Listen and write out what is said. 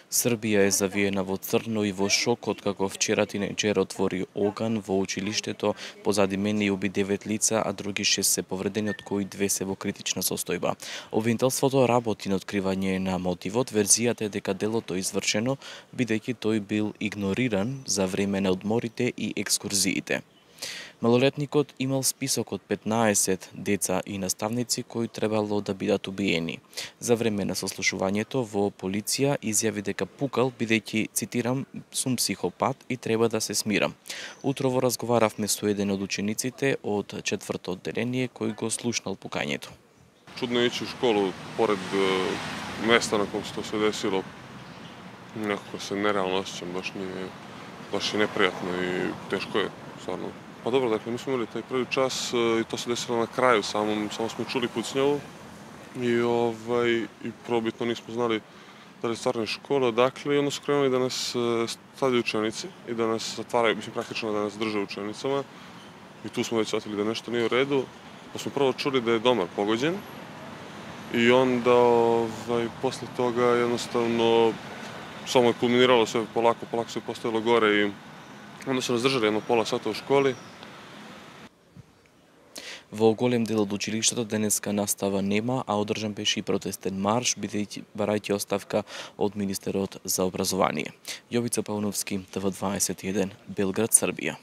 Србија е завиена во црно и во шок откако вчера тинејџер отвори оган во училиштето, позади мене и уби 9 лица, а други 6 се повредени, од кои 2 се во критична состојба. Обвинителството работи на откривање на мотивот. Верзијата е дека делото е извршено, бидејќи тој бил игнориран за време на одморите и екскурзиите. Малолетникот имал список од 15 деца и наставници кои требало да бидат убиени. За време на сослушувањето во полиција изјави дека пукал бидејќи, цитирам, сум психопат и треба да се смирам. Утрово разговаравме со еден од учениците од 4-то одделение кој го слушнал пукањето. Чудно е иći у школу поред места на ком се тоа се десило. Некако се нереално осеќам, баш е непријатно и тешко е, стварно. Па добро, dakle, ми сме имали тај први час и тоа се десило на крају, само сме чули пуцњаво и пробитно нисмо знали дали стварно е школа, dakle, и onda su krenuli da nas stavljaju učenici i da nas zatvaraju, mislim praktično da nas drže učenicama i tu smo već shvatili da nešto nije u redu, pa smo prvo čuli da je domar pogođen i onda posle toga jednostavno samo je kulminiralo sve polako se postavilo gore i onda su nas držali jedno pola sata u školi. Во голем дел од училиштето денеска настава нема, а одржан беше и протестен марш, барајќи оставка од министерот за образование. Јовица Пауновски, ТВ21, Белград, Србија.